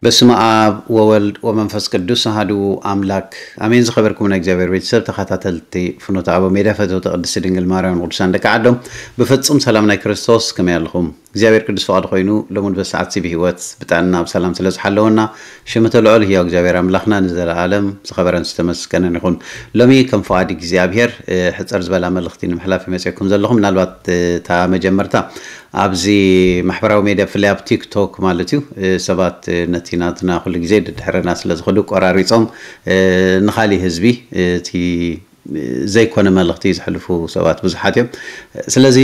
በስመ ኣብ ወወልድ ወመንፈስ ቅዱስ ኣሃዱ ኣምላክ ኣሜን። ዝኸበርኩም ናይ እግዚኣብሔር ቤተሰብ ተኸታተልቲ ፍኖተ ኣበው ሜድያ፣ ፈተውቲ ቅድስቲ ድንግል ማርያም ቅዱሳን ደቂ ዓዶም፣ ብፍጹም ሰላም ናይ ክርስቶስ ከመይ ኣለኹም? እግዚኣብሔር ቅዱስ ፍቓዱ ኮይኑ ሎምን በሰዓት ሲ ብህይወት ብጥዕና ብሰላም ስለ ዝሓለወና ሽምተ ልዑል ህያው እግዚኣብሔር ኣምላኽና ንዘለኣለም ዝኸበረን ዝተመስገነን ይኹን። ሎሚ ከም ፍቓድ እግዚኣብሔር ሕፅር ዝበላ መልእኽቲ ንምሕላፍ ይመፅኩም ዘለኹ። ምናልባት እታ መጀመርታ ኣብዚ ማሕበራዊ ሜድያ ብፍላይ ኣብ ቲክቶክ ማለት እዩ ሰባት ነቲ ናትና ኩሉ ግዜ ድድሕረና ስለ ዝኽዱ ቆራሪፆም ንካሊእ ህዝቢ እቲ ዘይኮነ መልእኽቲ ዘሕልፉ ሰባት ብዙሓት እዮም። ስለዚ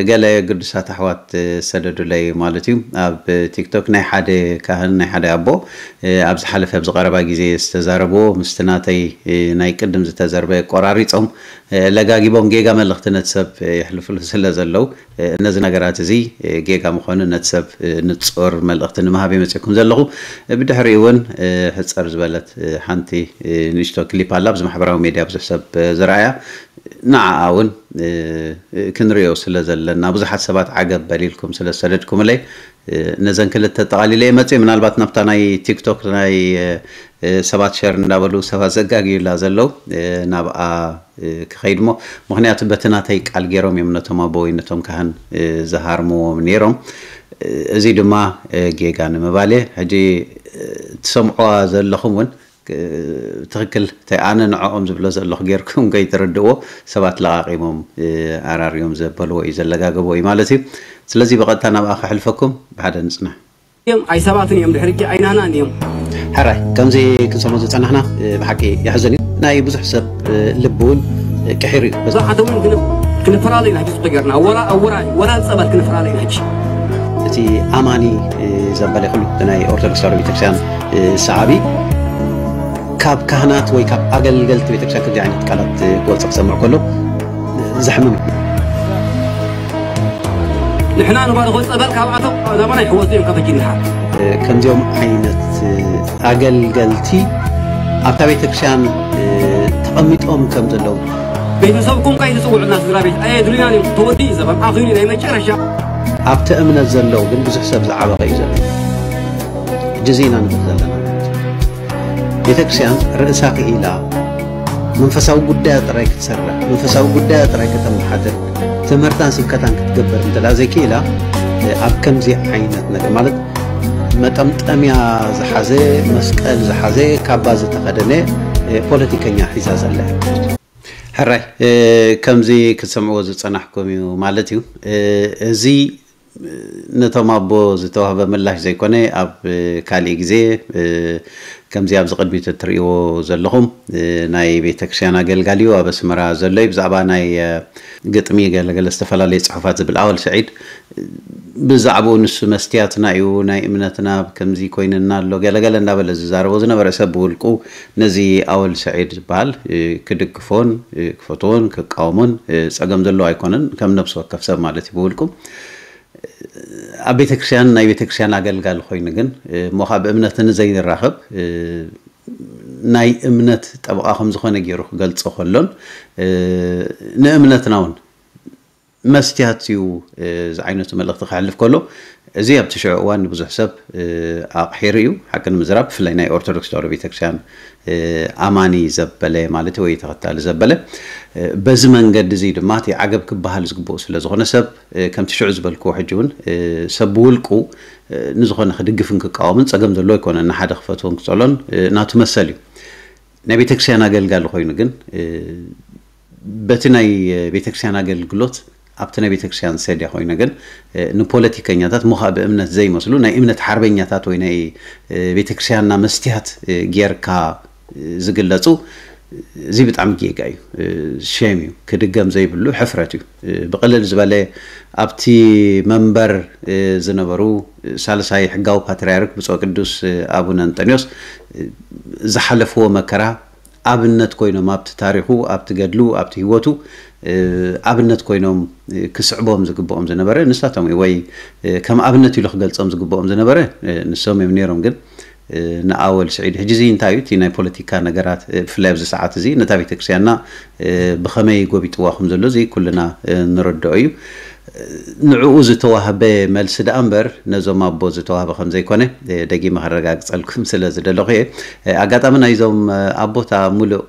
ገለ ግዱሳት ኣሕዋት ሰደዱለይ ማለት እዩ። ኣብ ቲክቶክ ናይ ሓደ ካህን ናይ ሓደ ኣቦ ኣብ ዝሓለፈ ኣብ ዝቀረባ ግዜ ዝተዛረብዎ ምስቲ ናተይ ናይ ቅድም ዝተዘርበ ቆራሪፆም ለጋጊቦም ጌጋ መልእኽቲ ነቲ ሰብ የሕልፍሉ ስለ ዘለዉ ነዚ ነገራት እዚ ጌጋ ምዃኑ ነቲ ሰብ ንጹር መልእኽቲ ንምሃብ እየ መጺእኩም ዘለኹ። ብድሕሪኡ እውን ሕጽር ዝበለት ሓንቲ ንእሽቶ ክሊፕ ኣላ ኣብዚ ማሕበራዊ ሜድያ ብዙሕ ሰብ ዝረኣያ፣ ንዓኣ እውን ክንሪኦ ስለ ዘለና ብዙሓት ሰባት ዓገብ በሊልኩም ስለ ዝሰደድኩምለይ ነዘን ክልተ ጠቓሊለ እየ መጺእ። ምናልባት ናብታ ናይ ቲክቶክ ናይ ሰባት ሸር እንዳበሉ ሰባት ዘጋግዩላ ዘለዉ ናብኣ ክኸይድ እሞ፣ ምኽንያቱ በቲ ናተይ ቃል ገይሮም እዮም ነቶም ኣቦ ወይ ነቶም ካህን ዝሃርምዎም ነይሮም። እዚ ድማ ጌጋ ንምባል እየ። ሕጂ ትሰምዕዋ ዘለኹም እውን ትኽክል፣ እንታይ ኣነ ንዕኦም ዝብሎ ዘለኹ ጌርኩም ከይትርድእዎ፣ ሰባት ለቓቒሞም ኣራርዮም ዘበልዎ እዩ፣ ዘለጋገቦ እዩ ማለት እዩ። ስለዚ ብቐጥታ ናብኣ ከሕልፈኩም፣ ብሓደ ንጽናሕ። እዮም ኣይሰባትን እዮም ድሕሪ ሕጂ ኣይናናን እዮም። ሕራይ ከምዚ ክንሰሞ ዝጸናሕና ብሓቂ የሕዝን እዩ። ናይ ብዙሕ ሰብ ልቢ እውን ቅሒሩ እዩ። ብዙሓት እውን ግን ክንፈላለ ኢና ሕጂ ጽቡቅ ጌርና ወላ ኣወራይ ወላ ጸበል ክንፈላለ ኢና ሕጂ። እቲ ኣማኒ ዘበለ ኩሉ ናይ ኦርቶዶክስ ተዋህዶ ቤተክርስትያን ሰዓቢ ካብ ካህናት ወይ ካብ ኣገልገልቲ ቤተክርስትያን ከምዚ ዓይነት ቃላት ክወፅእ ክሰምዕ ከሎ ዘሕምም እዩ። ንሕና ንባርኾ ጸበል ካብኣቶም ናባና ይሕወፁ እዮም ካብ ሕጂ ንሓር። ከምዚኦም ዓይነት ኣገልገልቲ ኣብታ ቤተክርስትያን ተቐሚጦም ከም ዘለዉ ቤተሰብኩም ከይ ትጽውዑና ስድራ ቤት ኣየድልዩናን እዮም። ተወዲኡ ዘበን ኣኺሉ ናይ መጨረሻ ኣብቲ እምነት ዘለዉ ግን ብዙሕ ሰብ ዝዓበቐ እዩ ዘሎ። ሕጂ እዚ ኢና ንብል ዘለና ማለት እዩ። ቤተክርስትያን ርእሳ ክኢላ መንፈሳዊ ጉዳያ ጥራይ ክትሰርሕ መንፈሳዊ ጉዳያ ጥራይ ከተመሓድር ትምህርታን ስብከታን ክትገብር እንተ ዘይክኢላ ኣብ ከምዚ ዓይነት ነገር ማለት መጠምጠምያ ዝሓዘ መስቀል ዝሓዘ ካባ ዝተኸደነ ፖለቲከኛ ሒዛ ዘላ ሕራይ ከምዚ ክትሰምዕዎ ዝጸናሕኩም እዩ ማለት እዩ። እዚ ነቶም ኣቦ ዝተዋህበ ምላሽ ዘይኮነ ኣብ ካሊእ ግዜ ከምዚ ኣብዚ ቅድሚት እትርእይዎ ዘለኹም ናይ ቤተክርስትያን ኣገልጋሊ እዩ ኣብ ኣስመራ ዘሎ እዩ። ብዛዕባ ናይ ግጥሚ ገለገለ ዝተፈላለየ ጽሑፋት ዝብል ኣወል ስዒድ ብዛዕባኡ ንሱ መስትያትና እዩ ናይ እምነትና ከምዚ ኮይንና ኣሎ ገለገለ እንዳበለ ዝዛረቦ ዝነበረ ሰብ ብውልቁ ነዚ ኣወል ስዒድ ዝበሃል ክድግፎን ክፈትዎን ክቃወሞን ጸገም ዘለዎ ኣይኮነን። ከም ነብሲ ወከፍ ሰብ ማለት እዩ ብውልቁ ኣብ ቤተክርስትያን ናይ ቤተክርስትያን ኣገልጋሊ ኮይኑ ግን እሞ ካብ እምነት ንዘይንራኸብ ናይ እምነት ጠበቓ ከም ዝኾነ ገይሩ ክገልጾ ከሎን ንእምነትና እውን መስትያት እዩ ዝዓይነቱ መልእኽቲ ክሕልፍ ከሎ እዚ ኣብቲ ሽዑ እዋን ንብዙሕ ሰብ ኣቕሒሩ እዩ። ሓቂ ንምዝራብ ብፍላይ ናይ ኦርቶዶክስ ተዋህዶ ቤተክርስትያን ኣማኒ ዘበለ ማለት ወይ ተኸታሊ ዘበለ በዚ መንገዲ እዚ ድማ እቲ ዓገብ ክበሃል ዝግብኡ ስለ ዝኾነ ሰብ ከምቲ ሽዑ ዝበልክዎ ሕጂ እውን ሰብ ብውልቁ ንዝኾነ ክድግፍን ክቃወምን ጸገም ዘለዎ ኣይኮነን። ንሓደ ክፈትዎን ክጸሎን ናቱ መሰል እዩ። ናይ ቤተክርስትያን ኣገልጋሊ ኮይኑ ግን በቲ ናይ ቤተክርስትያን ኣገልግሎት ኣብቲ ናይ ቤተክርስትያን ሰድያ ኮይኑ ግን ንፖለቲከኛታት ሞኻእ ብእምነት ዘይመስሉ ናይ እምነት ሓርበኛታት ወይ ናይ ቤተክርስትያንና መስትያት ጌርካ ዝግለጹ እዚ ብጣዕሚ ጌጋ እዩ። ሼም እዩ፣ ክድገም ዘይብሉ ሕፍረት እዩ። ብቕልል ዝበለ ኣብቲ መንበር ዝነበሩ ሳልሳይ ሕጋዊ ፓትርያርክ ብፁዕ ቅዱስ ኣቡነ እንጠንዮስ ዝሓለፍዎ መከራ ኣብነት ኮይኖም ኣብቲ ታሪኹ ኣብቲ ገድሉ ኣብቲ ህይወቱ ኣብነት ኮይኖም ክስዕቦም ዝግብኦም ዝነበረ ንሳቶም ወይ ከም ኣብነት ኢሉ ክገልጾም ዝግብኦም ዝነበረ ንሶም እዮም ነይሮም። ግን ንኣወል ስዒድ ሕጂ እዚ እንታይ እዩ እቲ ናይ ፖለቲካ ነገራት ብፍላይ ኣብዚ ሰዓት እዚ ነታ ቤተክርስትያንና ብኸመይ ጎቢጥዋ ከም ዘሎ እዚ ኩልና ንረድኦ እዩ። ንዕኡ ዝተዋህበ መልሲ ደኣ እምበር ነዞም ኣቦ ዝተዋህበ ከም ዘይኮነ ደጊመ ከረጋግጸልኩም ስለ ዝደለኹ እየ። ኣጋጣሚ ናይዞም ኣቦታ ሙሉእ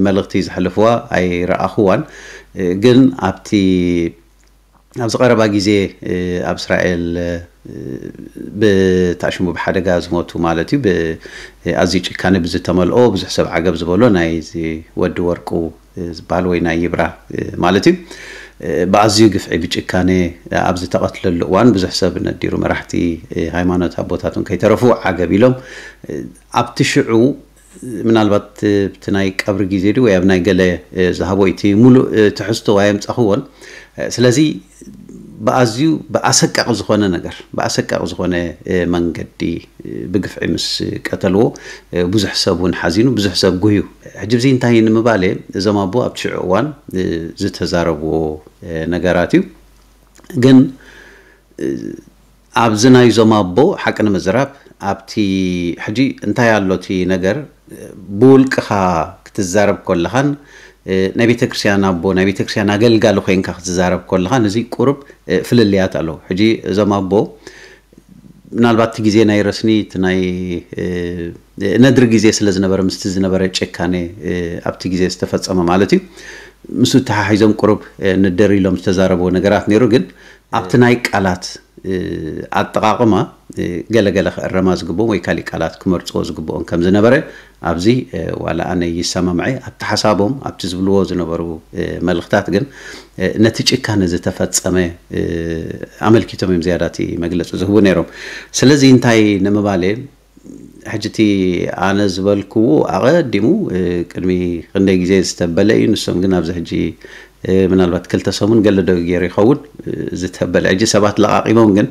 መልእኽቲ ዘሕልፍዋ ኣይረኣኹዋን። ግን ኣብቲ ኣብዚ ቀረባ ግዜ ኣብ እስራኤል ብታሽሙ ብሓደጋ ዝሞቱ ማለት እዩ፣ ኣዝዩ ጭካነ ብዝተመልኦ ብዙሕ ሰብ ዓገብ ዝበሎ ናይ ወዲ ወርቁ ዝበሃል ወይ ናይ ይብራ ማለት እዩ። ብኣዝዩ ግፍዒ ብጭካነ ኣብ ዝተቐትለሉ እዋን ብዙሕ ሰብ ነዲሩ፣ መራሕቲ ሃይማኖት ኣቦታትን ከይተረፉ ዓገብ ኢሎም ኣብቲ ሽዑ ምናልባት ብቲ ናይ ቀብሪ ግዜ ድዩ ወይ ኣብ ናይ ገለ ዝሃቦ እቲ ሙሉእ ትሕዝቶ ኣየምጻኽዎን። ስለዚ ብኣዝዩ ብኣሰቃቂ ዝኾነ ነገር ብኣሰቃቂ ዝኾነ መንገዲ ብግፍዒ ምስ ቀተልዎ ብዙሕ ሰብ እውን ሓዚኑ፣ ብዙሕ ሰብ ጉህዩ። ሕጂ ብዚ እንታይ ንምባል እየ፣ እዞም ኣቦ ኣብቲ ሽዑ እዋን ዝተዛረብዎ ነገራት እዩ። ግን ኣብዚ ናይዞም ኣቦ ሓቂ ንምዝራብ ኣብቲ ሕጂ እንታይ ኣሎ እቲ ነገር ብውልቅኻ ክትዛረብ ከለኻን ናይ ቤተክርስትያን ኣቦ ናይ ቤተክርስትያን ኣገልጋሊ ኮይንካ ክትዛረብ ከለኻን እዚ ቁሩብ ፍልልያት ኣለዎ። ሕጂ እዞም ኣቦ ምናልባት እቲ ግዜ ናይ ረስኒ እቲ ናይ ነድሪ ግዜ ስለ ዝነበረ ምስቲ ዝነበረ ጭካኔ ኣብቲ ግዜ ዝተፈጸመ ማለት እዩ ምስ ተሓሒዞም ቁሩብ ንደር ኢሎም ዝተዛረብዎ ነገራት ነይሩ። ግን ኣብቲ ናይ ቃላት ኣጠቓቕማ ገለገለ ክእረማ ዝግብኦም ወይ ካሊእ ቃላት ክመርፅዎ ዝግብኦም ከም ዝነበረ ኣብዚ ዋላ ኣነ ይሰማምዐ ኣብቲ ሓሳቦም ኣብቲ ዝብልዎ ዝነበሩ መልእኽታት ግን ነቲ ጭካነ ዝተፈጸመ ኣመልኪቶም እዮም ዝያዳ እቲ መግለፂ ዝህቡ ነይሮም። ስለዚ እንታይ ንምባል እየ ሕጂ እቲ ኣነ ዝበልክዎ ኣቐዲሙ ቅድሚ ክንደይ ግዜ ዝተበለ እዩ። ንሶም ግን ኣብዚ ሕጂ ምናልባት ክልተ ሰሙን ገለ ዶ ገይሩ ይኸውን ዝተበለ ሕጂ ሰባት ለቓቒሞም ግን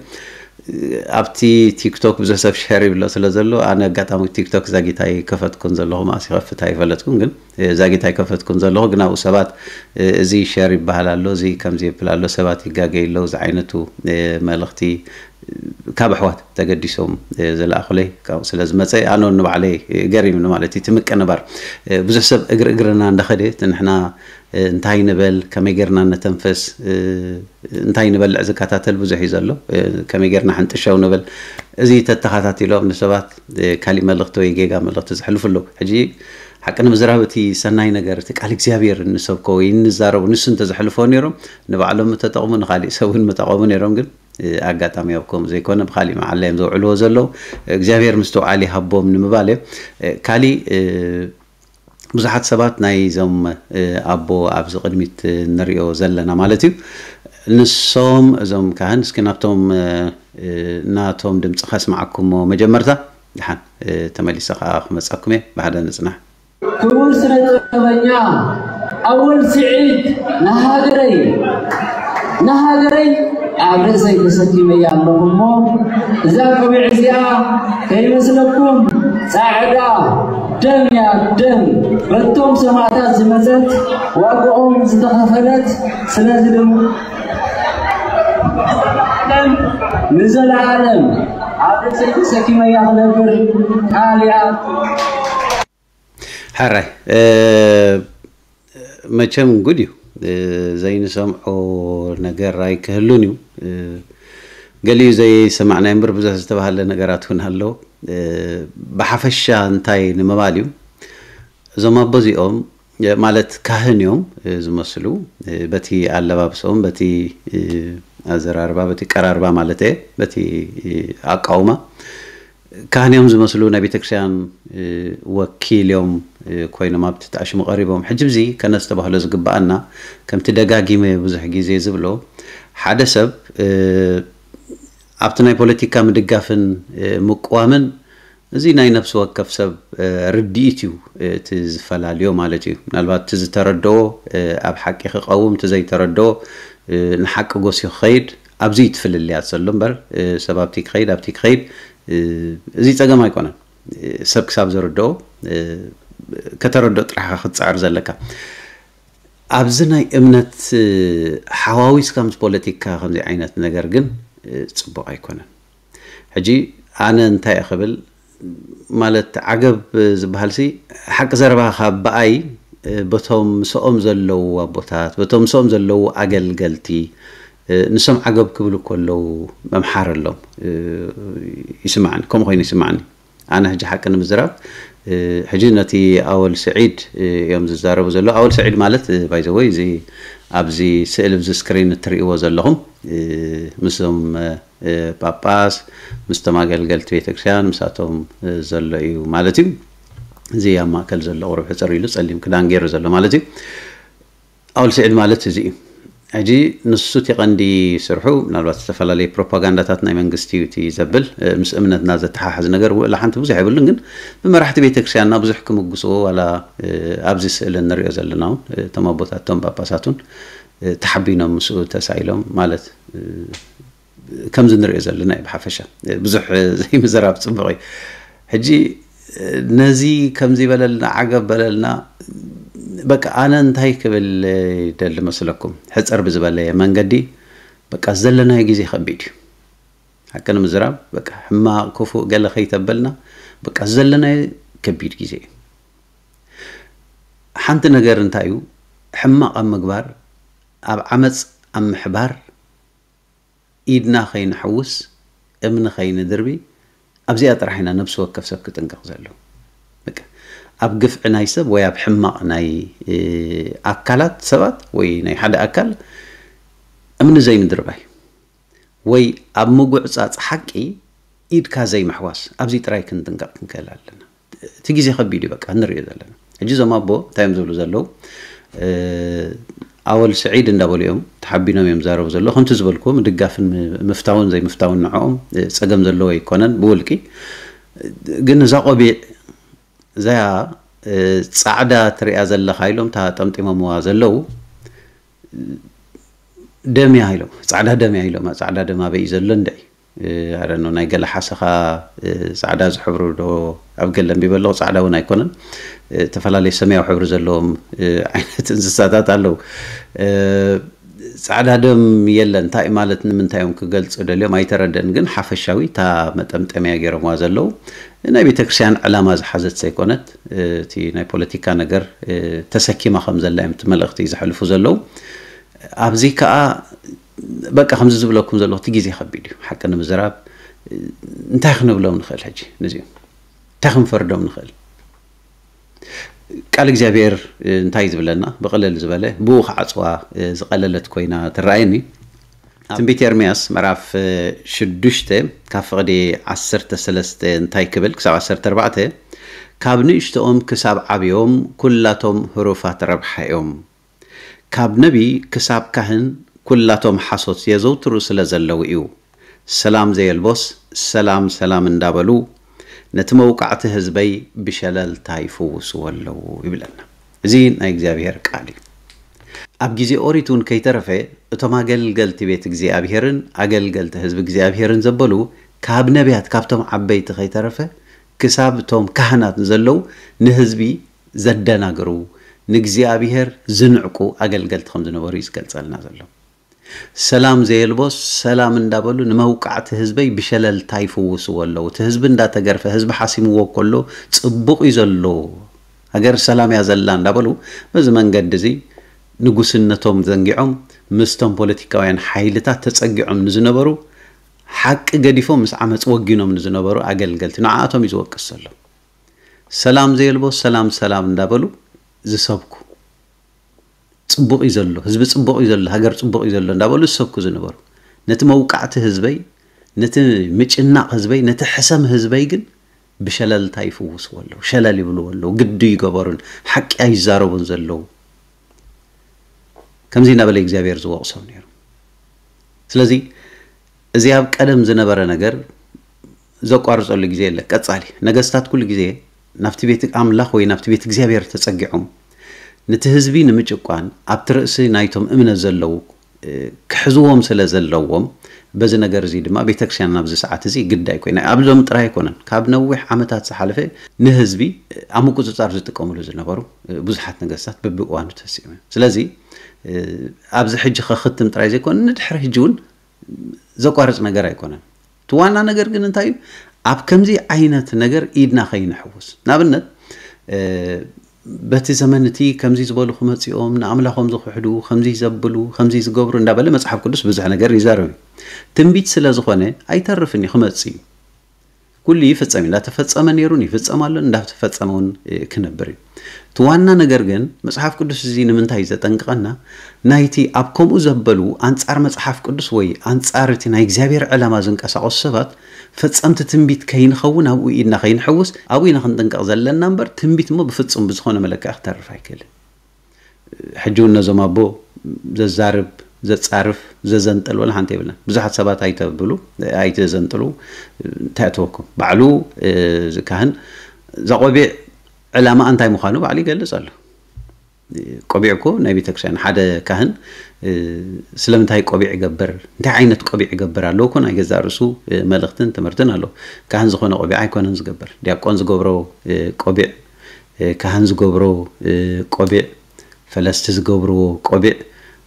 ኣብቲ ቲክቶክ ብዙሕ ሰብ ሸር ይብሎ ስለ ዘሎ ኣነ ኣጋጣሚ ቲክቶክ ዛጊት ኣይከፈትኩን ዘለኹ ማእስ ይኸፍት ኣይፈለጥኩን ግን ዛጊት ኣይከፈትኩን ዘለኹ ግን ኣብኡ ሰባት እዚ ሸር ይበሃል ኣሎ እዚ ከምዚ ይብል ኣሎ ሰባት ይጋገይ ኣለዉ ዝዓይነቱ መልእኽቲ ካብ ኣሕዋት ተገዲሶም ዝለኣኹለይ ካብኡ ስለ ዝመፀ ኣነ ንባዕለይ ገሪምኒ ማለት እዩ። እቲ ምቅንባር ብዙሕ ሰብ እግሪ እግርና እንዳኸደ እቲ ንሕና እንታይ ንበል ከመይ ጌርና ነተንፈስ እንታይ ንበልዕ ዝከታተል ብዙሕ እዩ ዘሎ። ከመይ ጌርና ሕንጥሸው ንብል እዚ ተተኻታቲሎም ንሰባት ካሊእ መልእኽቲ ወይ ጌጋ መልእኽቲ ዘሕልፉ ኣለዉ። ሕጂ ሓቂ ንምዝራብ እቲ ሰናይ ነገር እቲ ቃል እግዚኣብሔር እንሰብኮ ወይ እንዛረቡ ንሱ እንተዘሕልፎ ነይሮም ንባዕሎም ምተጠቕሙ ንካሊእ ሰብ እውን ምጠቐሙ ነይሮም። ግን ኣጋጣሚ ኣብ ከምኡ ዘይኮነ ብካሊእ መዓላ እዮም ዘውዕልዎ ዘለዉ። እግዚኣብሔር ምስትውዓል ይሃቦም ንምባል እየ። ካሊእ ብዙሓት ሰባት ናይዞም ኣቦ ኣብዚ ቅድሚት ንሪኦ ዘለና ማለት እዩ ንሶም እዞም ካህን እስኪ ናብቶም ናቶም ድምፂ ከስማዓኩሞ መጀመርታ ድሓን ተመሊሰ ከዓ ክመፀኩም እየ ብሓደ ንፅናሕ። ክቡር ስነ ጥበበኛ ኣወል ስዒድ ንሃገረይ ንሃገረይ ኣብ ርእሰይ ተሰኪመያ ኣለኹ እሞ እዛ ቆቢዕ እዚኣ ከይመስለኩም ጻዕዳ ደም እያ ደም በቶም ሰማእታት ዝመጸት ዋግኦም ዝተኸፈለት ስለዚ ድማ ንዘለዓለም ንዘለዓለም ኣብ ርእሰይ ተሰኪመያ ክነብር ቃል እያ። ሕራይ መቸም ጉድ እዩ ዘይንሰምዖ ነገር ኣይክህሉን እዩ። ገሊኡ ዘይሰማዕናዮ እምበር ብዙሕ ዝተባሃለ ነገራት እውን ኣሎ። ብሓፈሻ እንታይ ንምባል እዩ እዞም ኣቦ እዚኦም ማለት ካህን እዮም ዝመስሉ በቲ ኣለባብሶም በቲ ኣዘራርባ በቲ ቀራርባ ማለት እየ በቲ ኣቃውማ ካህን እዮም ዝመስሉ ናይ ቤተክርስትያን ወኪል እዮም ኮይኖም ኣብቲ ተኣሽሙ ቀሪቦም። ሕጂ ብዚ ከነስተባህሎ ዝግበኣና ከምቲ ደጋጊመ ብዙሕ ግዜ ዝብሎ ሓደ ሰብ ኣብቲ ናይ ፖለቲካ ምድጋፍን ምቅዋምን እዚ ናይ ነፍሲ ወከፍ ሰብ ርድኢት እዩ እቲ ዝፈላልዮ ማለት እዩ። ምናልባት እቲ ዝተረድኦ ኣብ ሓቂ ክቐውም እቲ ዘይተረድኦ ንሓቂ ጎስዩ ክኸይድ ኣብዚ እዩ እቲ ፍልልያት ዘሎ እምበር ሰብ ኣብቲ ክኸይድ ኣብቲ ክኸይድ እዚ ጸገም ኣይኮነን። ሰብ ክሳብ ዝርድኦ ከተረድኦ ጥራሕ ኢኻ ክትጽዕር ዘለካ። ኣብዚ ናይ እምነት ሓዋዊስካ ምስ ፖለቲካ ከምዚ ዓይነት ነገር ግን ፅቡቕ ኣይኮነን። ሕጂ ኣነ እንታይ እየ ክብል ማለት ዓገብ ዝበሃል ሲ ሓቂ ዘረባ ካብ ብኣይ በቶም ምስኦም ዘለዉ ኣቦታት፣ በቶም ምስኦም ዘለዉ ኣገልገልቲ፣ ንሶም ዓገብ ክብሉ ከለዉ መምሓረሎም ይስምዓኒ፣ ከምኡ ኮይኑ ይስምዓኒ። ኣነ ሕጂ ሓቂ ንምዝራብ፣ ሕጂ ነቲ ኣወል ስዒድ እዮም ዝዛረቡ ዘለዉ። ኣወል ስዒድ ማለት፣ ባይዘወይ፣ እዚ ኣብዚ ስእሊ፣ ኣብዚ ስክሪን እትርእይዎ ዘለኹም፣ ምስዞም ጳጳስ፣ ምስቶም ኣገልገልቲ ቤተክርስትያን፣ ምሳቶም ዘሎ እዩ ማለት እዩ። እዚ ኣብ ማእከል ዘሎ ቁሩብ ሕጽር ኢሉ ጸሊም ክዳን ገይሩ ዘሎ ማለት እዩ። ኣውል ስዒድ ማለት እዚ እዩ። ሕጂ ንሱ እቲ ቀንዲ ስርሑ፣ ምናልባት ዝተፈላለዩ ፕሮፓጋንዳታት ናይ መንግስቲ እዩ እቲ ዘብል፣ ምስ እምነትና ዘተሓሓዝ ነገር ውዕላ ሓንቲ ብዙሕ የብሉን፣ ግን ብመራሕቲ ቤተክርስትያንና ብዙሕ ክምጉስዎ፣ ዋላ ኣብዚ ስእሊ እንሪኦ ዘለና እውን፣ እቶም ኣቦታት፣ እቶም ጳጳሳት እውን ተሓቢኖም ምስኡ ተሳኢሎም ማለት፣ ከምዚ ንሪኦ ዘለና እዩ። ብሓፈሻ ብዙሕ ዘይምዝራብ ጽቡቕ እዩ። ሕጂ ነዚ ከምዚ በለልና፣ ዓገብ በለልና፣ በቃ ኣነ እንታይ ክብል ይደሊ መስለኩም? ሕጽር ብዝበለ መንገዲ፣ በቃ ዘለናዮ ግዜ ከቢድ እዩ። ሓቂ ንምዝራብ፣ በቃ ሕማቕ፣ ክፉእ፣ ገለ ከይተበልና፣ በቃ ዘለናዮ ከቢድ ግዜ እዩ። ሓንቲ ነገር እንታይ እዩ? ሕማቕ ኣብ ምግባር፣ ኣብ ዓመጽ ኣብ ምሕባር፣ ኢድና ከይንሕውስ፣ እምኒ ከይንድርቢ፣ ኣብዚኣ ጥራሕ ኢና ነብሲ ወከፍ ሰብ ክጥንቀቕ ዘለዎ። በቃ፣ ኣብ ግፍዒ ናይ ሰብ ወይ ኣብ ሕማቕ ናይ፣ እ፣ ኣካላት ሰባት ወይ ናይ ሓደ ኣካል እምኒ ዘይምድርባይ፣ ወይ ኣብ ምጉዕጻጽ ሓቂ ኢድካ ዘይምሕዋስ፣ ኣብዚ ጥራይ ክንጥንቀቕ ክንክእል ኣለና። እቲ ግዜ ከቢድ እዩ፣ በቃ፣ ንሪኦ ዘለና። ሕጂ እዞም ኣቦ እንታይ እዮም ዝብሉ ዘለዉ? እ፣ ኣወል ስዒድ እንዳበሉ እዮም፣ ተሓቢኖም እዮም ዝዛረቡ ዘለዉ። ከምቲ ዝበልኩዎ፣ ምድጋፍን ም-፣ ምፍታውን ዘይምፍታውን ንዕኦም፣ እ፣ ጸገም ዘለዎ ኣይኮነን፣ ብውልቂ። ግን እዛ ቆቢዕ፣ እዛ፣ እ፣ ጻዕዳ ትሪኣ ዘለኻ ኢሎም፣ እታ ጠምጢሞምዋ ዘለዉ፣ ደም እያ ኢሎም፣ ጻዕዳ ደም እያ ኢሎም። ጻዕዳ ደም ኣበይ እዩ ዘሎ እንድዒ? እ፣ I don't know፣ ናይ ገለ ሓሰኻ፣ እ፣ ጻዕዳ ዝሕብሩ ዶ ኣብ ገለ ኣንቢበ ኣለኹ። ጻዕዳ እውን ኣይኮነን። እ፣ ዝተፈላለዩ ሰማያዊ ሕብሪ ዘለዎም፣ እ፣ ዓይነት እንስሳታት ኣለዉ። እ፣ ጻዕዳ ደም የለን። እንታይ ማለት፣ ንምንታይ እዮም ክገልጹ ደልዮም ኣይተረደን። ግን ሓፈሻዊ እታ መጠምጠምያ ገይሮምዋ ዘለዉ ናይ ቤተክርስትያን ዕላማ ዝሓዘት ዘይኮነት፣ እ፣ እቲ ናይ ፖለቲካ ነገር፣ እ፣ ተሰኪማ ከም ዘላ እዮም እቲ መልእኽቲ ዘሕልፉ ዘለዉ። ኣብዚ ከኣ በቃ ከምዚ ዝብለኩም ዘለኹ፣ እቲ ግዜ ከቢድ እዩ። ሓቂ ንምዝራብ፣ እንታይ ክንብሎም ንኽእል ሕጂ? ነዚኦም እንታይ ክንፈርዶም ንኽእል? ቃል እግዚኣብሔር እንታይ ዝብለና? ብቕልል ዝበለ፣ ብኡ ክዓጽዋ ዝቐለለት ኮይና ትረኣየኒ። ትንቢት ኤርምያስ ምዕራፍ ሽዱሽተ ካብ ፍቕዲ ዓሰርተ ሰለስተ እንታይ ክብል ክሳብ ዓሰርተ ኣርባዕተ፣ "ካብ ንእሽቶኦም ክሳብ ዓብዮም ኩላቶም ህሩፋት ረብሓ እዮም። ካብ ነቢ ክሳብ ካህን ኩላቶም ሓሶት የዘውትሩ ስለ ዘለዉ እዩ። ሰላም ዘየልቦስ ሰላም ሰላም እንዳበሉ ነቲ መውቃዕቲ ህዝበይ ብሸለልታ ይፍውስዎ ኣለዉ" ይብለና። እዚ ናይ እግዚኣብሔር ቃል እዩ። ኣብ ግዜ ኦሪት እውን ከይተረፈ እቶም ኣገልገልቲ ቤት እግዚኣብሔርን ኣገልገልቲ ህዝቢ እግዚኣብሔርን ዘበሉ ካብ ነቢያት ካብቶም ዓበይቲ ከይተረፈ ክሳብ እቶም ካህናት ዘለዉ ንህዝቢ ዘደናግሩ፣ ንእግዚኣብሔር ዝንዕቁ ኣገልገልቲ ከም ዝነበሩ እዩ ዝገልጸልና ዘሎ። ሰላም ዘየልቦስ ሰላም እንዳበሉ ንመውቃዕቲ ህዝበይ ብሸለልታ ይፍውስዎ ኣለዉ። እቲ ህዝቢ እንዳተገርፈ፣ ህዝቢ ሓሲምዎ ከሎ ጽቡቕ እዩ ዘሎ፣ ሃገር ሰላም እያ ዘላ እንዳበሉ በዚ መንገዲ እዚ ንጉስነቶም ዘንጊዖም ምስቶም ፖለቲካውያን ሓይልታት ተጸጊዖም ንዝነበሩ፣ ሓቂ ገዲፎም ምስ ዓመፅ ወጊኖም ንዝነበሩ ኣገልገልቲ ንዓኣቶም እዩ ዝወቅስ ዘሎ። ሰላም ዘየልቦ ሰላም ሰላም እንዳበሉ ዝሰብኩ፣ ጽቡቕ እዩ ዘሎ ህዝቢ፣ ጽቡቕ እዩ ዘሎ ሃገር፣ ጽቡቕ እዩ ዘሎ እንዳበሉ ዝሰብኩ ዝነበሩ፣ ነቲ መውቃዕቲ ህዝበይ፣ ነቲ ምጭናቕ ህዝበይ፣ ነቲ ሕሰም ህዝበይ ግን ብሸለልታ ይፍውስዎ ኣለዉ፣ ሸለል ይብልዎ ኣለዉ፣ ግዲ ይገበሩን ሓቂ ኣይዛረቡን ዘለዉ። ከምዚ እናበለ እግዚኣብሔር ዝወቕሶም ነይሩ። ስለዚ እዚ ኣብ ቀደም ዝነበረ ነገር ዘቋርጸሉ ግዜ የለ። ቀጻሊ ነገስታት ኩሉ ግዜ ናብቲ ቤት ኣምላኽ ወይ ናብቲ ቤት እግዚኣብሔር ተጸጊዖም ነቲ ህዝቢ ንምጭቋን ኣብቲ ርእሲ ናይቶም እምነት ዘለዉ፣ እ፣ ክሕዝዎም ስለ ዘለዎም፣ በዚ ነገር እዚ ድማ ቤተክርስትያን ናብዚ ሰዓት እዚ ግዳይ ኮይና። ኣብዞም ጥራይ ኣይኮነን። ካብ ነዊሕ ዓመታት ዝሓለፈ ንህዝቢ ኣብ ምቁጽጻር ዝጥቀምሉ ዝነበሩ፣ እ፣ ብዙሓት ነገስታት በብእዋኑ ተሲኦም እዮም። ስለዚ፣ እ፣ ኣብዚ ሕጂ ከኽትም ጥራይ ዘይኮነ፣ ንድሕሪ ሕጂ እውን ዘቋርጽ ነገር ኣይኮነን። እቲ ዋና ነገር ግን እንታይ እዩ? ኣብ ከምዚ ዓይነት ነገር ኢድና ከይንሕውስ። ንኣብነት፣ እ፣ በቲ ዘመን እቲ ከምዚ ዝበሉ ክመፅኦም፣ ንኣምላኾም ዝኽሕዱ፣ ከምዚ ዘብሉ፣ ከምዚ ዝገብሩ እንዳበለ መፅሓፍ ቅዱስ ብዙሕ ነገር ይዛረብ እዩ። ትንቢት ስለ ዝኾነ ኣይተርፍን እዩ፣ ክመፅእ እዩ። ኩሉ ይፍጸም እዩ። እንዳተፈጸመ ነይሩን ይፍጸም ኣሎን፣ እንዳተፈጸመ እውን ክነብር እዩ። እቲ ዋና ነገር ግን መፅሓፍ ቅዱስ እዚ ንምንታይ እዩ ዘጠንቅቐና? ናይቲ ኣብ ከምኡ ዘበሉ ኣንጻር መፅሓፍ ቅዱስ ወይ ኣንጻር እቲ ናይ እግዚኣብሔር ዕላማ ዝንቀሳቐሱ ሰባት ፈጸምቲ ትንቢት ከይንኸውን ኣብኡ ኢድና ከይንሕውስ ኣብኡ ኢና ክንጥንቀቕ ዘለና እምበር ትንቢት እሞ ብፍጹም ብዝኾነ መለክዒ ክተርፍ ኣይክእልን። ሕጂ እውን ነዞም ኣቦ ዘዛርብ ዘጻርፍ ዘዘንጥል ወላ ሓንቲ የብልና። ብዙሓት ሰባት ኣይተብሉ ኣይትዘንጥሉ እንታይ ኣተወኩም ባዕሉ እዚ ካህን እዛ ቆቢዕ ዕላማ እንታይ ምዃኑ ባዕሉ ይገልጽ ኣሎ። ቆቢዕ እኮ ናይ ቤተክርስትያን ሓደ ካህን ስለምንታይ ቆቢዕ ይገብር እንታይ ዓይነት ቆቢዕ ይገብር ኣለዎ እኮ ናይ ገዛእ ርእሱ መልእኽትን ትምህርትን ኣለዎ። ካህን ዝኾነ ቆቢዕ ኣይኮነን ዝገብር ዲያቆን ዝገብሮ ቆቢዕ ካህን ዝገብሮ ቆቢዕ ፈለስቲ ዝገብርዎ ቆቢዕ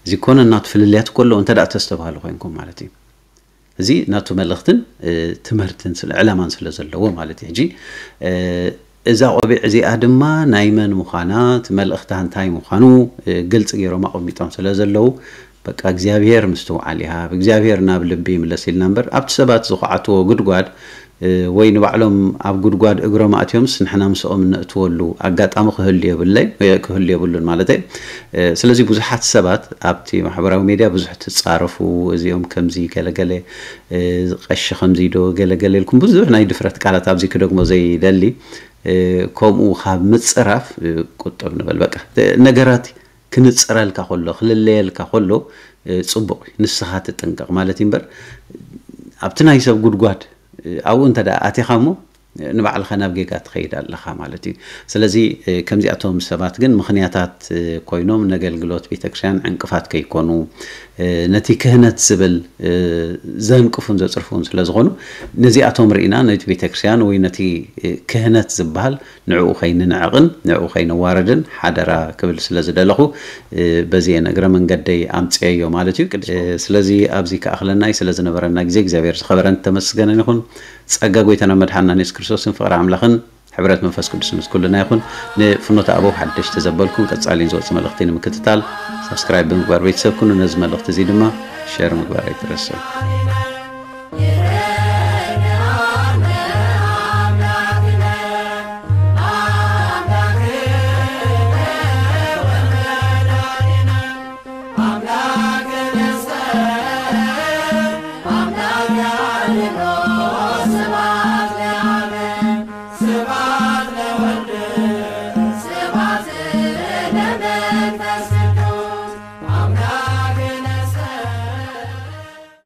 እዚ ኮነ እናቱ ፍልልያት እኮ ኣለዎ እንተ ደኣ ተስተብሃሉ ኮይንኩም ማለት እዩ። እዚ ናቱ መልእኽትን ትምህርትን ስለ ዕላማን ስለ ዘለዎ ማለት እዩ። ሕጂ እዛ ቆቢዕ እዚኣ ድማ ናይ መን ምዃና እቲ መልእኽታ እንታይ ምዃኑ ግልፂ ገይሮም ኣቐሚጦም ስለ ዘለዉ በቃ እግዚኣብሔር ምስትውዓል ይሃብ፣ እግዚኣብሔር ናብ ልቢ ይምለስ ኢልና እምበር ኣብቲ ሰባት ዝኹዓትዎ ጉድጓድ ወይ ንባዕሎም ኣብ ጉድጓድ እግሮም ኣእትዮምስ ንሕና ምስኦም እነእትወሉ ኣጋጣሚ ክህሉ የብለይ ክህሉ የብሉን ማለት ስለዚ ብዙሓት ሰባት ኣብቲ ማሕበራዊ ሜድያ ብዙሕ ትፃረፉ እዚኦም ከምዚ ገለገለ ቀሺ ከምዚ ዶ ገለገለ ኢልኩም ብዙሕ ናይ ድፍረት ቃላት ኣብዚ ክደግሞ ዘይደሊ ከምኡ ካብ ምፅራፍ ቁጠብ ንበል በቃ ነገራት ክንፅረልካ ከሎ ክልለየልካ ከሎ ፅቡቕ እዩ ንስኻ ትጥንቀቕ ማለት እዩ እምበር ኣብቲ ናይ ሰብ ጉድጓድ ኣብኡ እንተ ኣቲኻ እሞ ንባዕልኻ ናብ ጌጋ ትኸይድ ኣለኻ ማለት እዩ። ስለዚ ከምዚኣቶም ሰባት ግን ምኽንያታት ኮይኖም ነገልግሎት ቤተክርስትያን ዕንቅፋት ከይኮኑ ነቲ ክህነት ዝብል ዘንቅፉን ዘፅርፉን ስለዝኾኑ ነዚኣቶም ርኢና ነቲ ቤተክርስትያን ወይ ነቲ ክህነት ዝበሃል ንዕኡ ከይንንዕቕን ንዕኡ ከይንዋረድን ሓደራ ክብል ስለ ዝደለኹ በዚ እግረ መንገደይ ኣምፅኤዮ ማለት እዩ። ስለዚ ኣብዚ ክኣኽለናይ ስለ ዝነበረና ግዜ እግዚኣብሔር ዝኸበረን ተመስገነን ይኹን። ጸጋ ጎይታና መድሓንና የሱስ ክርስቶስን ፍቕሪ ኣምላኽን ሕብረት መንፈስ ቅዱስ ምስ ኩልና ይኹን። ንፍኖተ ኣበው ሓደሽቲ ዘበልኩም ቀጻሊን ዝወጽእ መልእኽቲ ንምክትታል ሳብስክራይብ ብምግባር ቤተሰብ ኩኑ። ነዚ መልእኽቲ እዚ ድማ ሸር ምግባር ኣይትረስዑ።